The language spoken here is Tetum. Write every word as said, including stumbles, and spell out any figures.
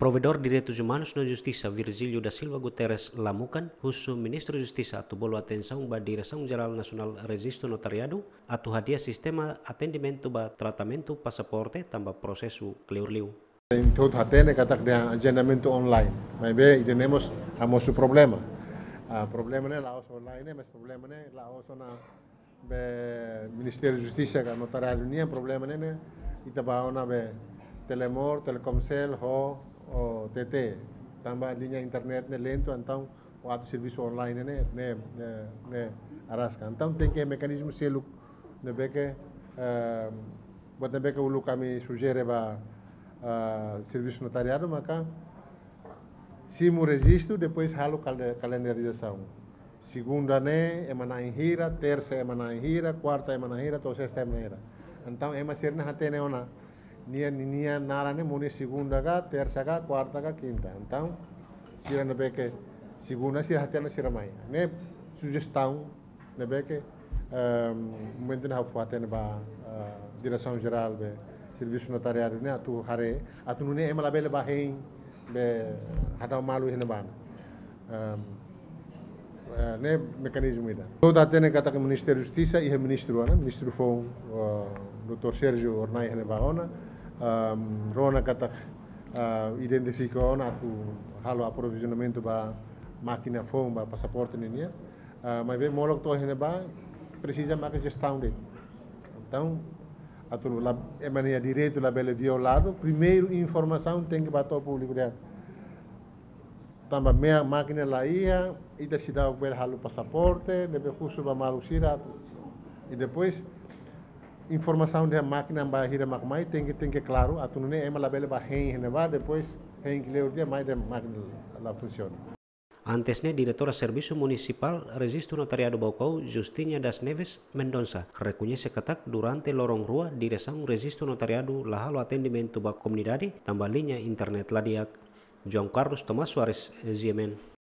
Provedór Direitus Umanus no Justisa, Virgílio da Silva Guterres Lamukan, husu Ministru Justisa atu bolu atensaun ba Diresaun Jerál Nasionál Rejistu Notariadu atu hadi'a sistema atendimentu ba tratamentu pasaporte tanba prosesu kleur liu. Entaun hatene katak dehan ajendamentu online. Maibé ida-ne'e mós hamosu problema. Ah, problema ne'e la'ós online ne'e, mas problema ne'e la'ós ona be Ministériu Justisa ka Notariadu nian, problema ne'e ne'e ita bá ona be Telemor, Telkomsel, ho, ho T T. Tanba liña internet ne'e lentu, entaun o atu servisu online ne'e, ne'e, ne'e, ne'e araska. Entaun tenke mekanizmu seluk ne'ebé ke, eh, buat ne'ebé ke uluk ami sujere ba, eh, servisu notariadu maka simu rejistu, depois halo kal-, kalendarizasaun. Segunda ne'e ema na'in hira, tersa ema na'in hira, kuarta ema na'in hira, to'o sesta ema na'in hira. Entaun ema sira ne'e hatene ona nia, nia naran ne'e mós iha segunda ka, tersa ka, kuarta ka, kinta. Entaun sira ne'ebé ke segunda sira hatene sira mai. Ne'e sujestaun ne'ebé ke, ehm, momentu ne'e ha'u fó hatene ba, eh, Diresaun Jerál be Servisu Notariadu ne'e atu haree, atu nune'e ema labele bá hein be hadau malu iha ne'ebá. Ehm, eh, ne'e mekanizmu ida. Ita hatene katak Ministériu Justisa iha ministru ona, ministru foun, eh, doutór Sérgio Hornai iha ne'ebá ona, ehm, rona katak, eh, identifika ona atu halo aprovizionamentu ba mákina foun ba pasaporte ninian. Ah, maibé molok to'o iha ne'ebá presiza maka jestaun de'it. Entaun, atu la, ema nia direitu labele violadu, primeiru informasaun tenke bá to'o públiku dehan. Tanba mean mákina la iha, ita seidauk bele halo pasaporte, ne'ebé husu ba maluk sira atu. I depois, informasaun dehan mákina ba hira mak mai, tenke, tenke klaru, atu nune'e ema labele bá hein iha ne'ebá, depois hein kleur tiha mai dehan mákina la funsiona. Antes ne'e, Diretora Servisu Munisipál Rejistu Notariadu Baucau, Justina das Neves Mendonça, rekoñese katak durante loron rua Diresaun Rejistu Notariadu la halo atendimentu ba komunidade tanba liña internet la di'ak. João Carlos Tomás Soares, G M N.